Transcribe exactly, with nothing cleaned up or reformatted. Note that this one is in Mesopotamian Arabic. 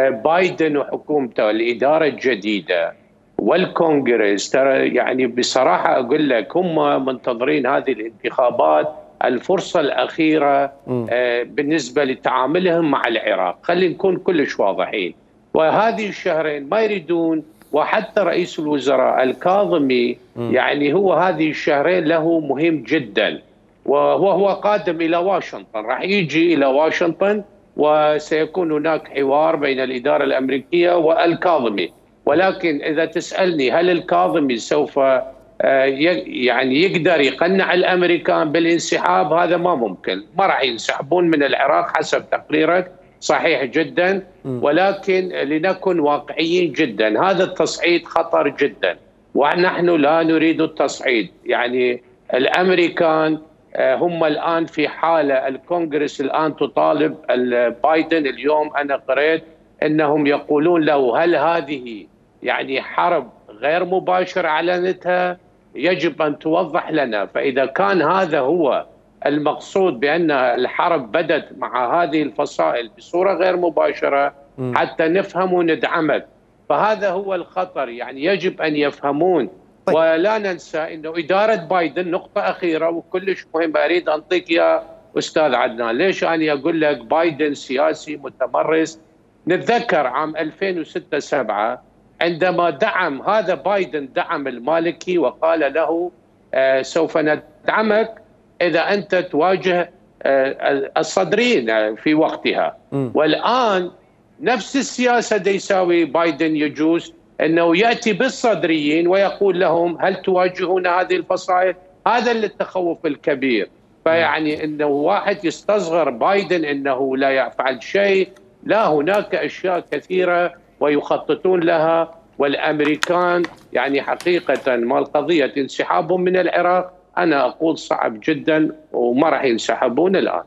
بايدن وحكومته الإدارة الجديدة والكونغرس، ترى يعني بصراحة أقول لك هم منتظرين هذه الانتخابات الفرصة الأخيرة بالنسبة لتعاملهم مع العراق. خلينا نكون كلش واضحين، وهذه الشهرين ما يريدون، وحتى رئيس الوزراء الكاظمي يعني هو هذه الشهرين له مهم جدا، وهو هو قادم إلى واشنطن، راح يجي إلى واشنطن وسيكون هناك حوار بين الإدارة الأمريكية والكاظمي. ولكن إذا تسألني هل الكاظمي سوف يعني يقدر يقنع الأمريكان بالانسحاب؟ هذا ما ممكن، ما راح ينسحبون من العراق حسب تقريرك، صحيح جدا، ولكن لنكن واقعيين جدا، هذا التصعيد خطر جدا ونحن لا نريد التصعيد. يعني الأمريكان هم الآن في حالة، الكونغرس الآن تطالب بايدن، اليوم أنا قرأت أنهم يقولون له هل هذه يعني حرب غير مباشرة أعلنتها؟ يجب أن توضح لنا. فإذا كان هذا هو المقصود بأن الحرب بدت مع هذه الفصائل بصورة غير مباشرة حتى نفهم وندعمك، فهذا هو الخطر. يعني يجب أن يفهمون. طيب. ولا ننسى أنه إدارة بايدن، نقطة أخيرة وكلش مهمة أريد أنطيك يا أستاذ عدنان، ليش أنا أقول لك بايدن سياسي متمرس؟ نتذكر عام ألفين وستة سبعة عندما دعم هذا بايدن دعم المالكي وقال له آه سوف ندعمك إذا أنت تواجه آه الصدريين في وقتها. م. والآن نفس السياسة دي يساوي بايدن، يجوز أنه يأتي بالصدريين ويقول لهم هل تواجهون هذه الفصائل؟ هذا اللي التخوف الكبير. فيعني أنه واحد يستصغر بايدن أنه لا يفعل شيء، لا، هناك أشياء كثيرة ويخططون لها. والأمريكان يعني حقيقة ما القضية انسحابهم من العراق، أنا أقول صعب جدا وما راح ينسحبون الآن.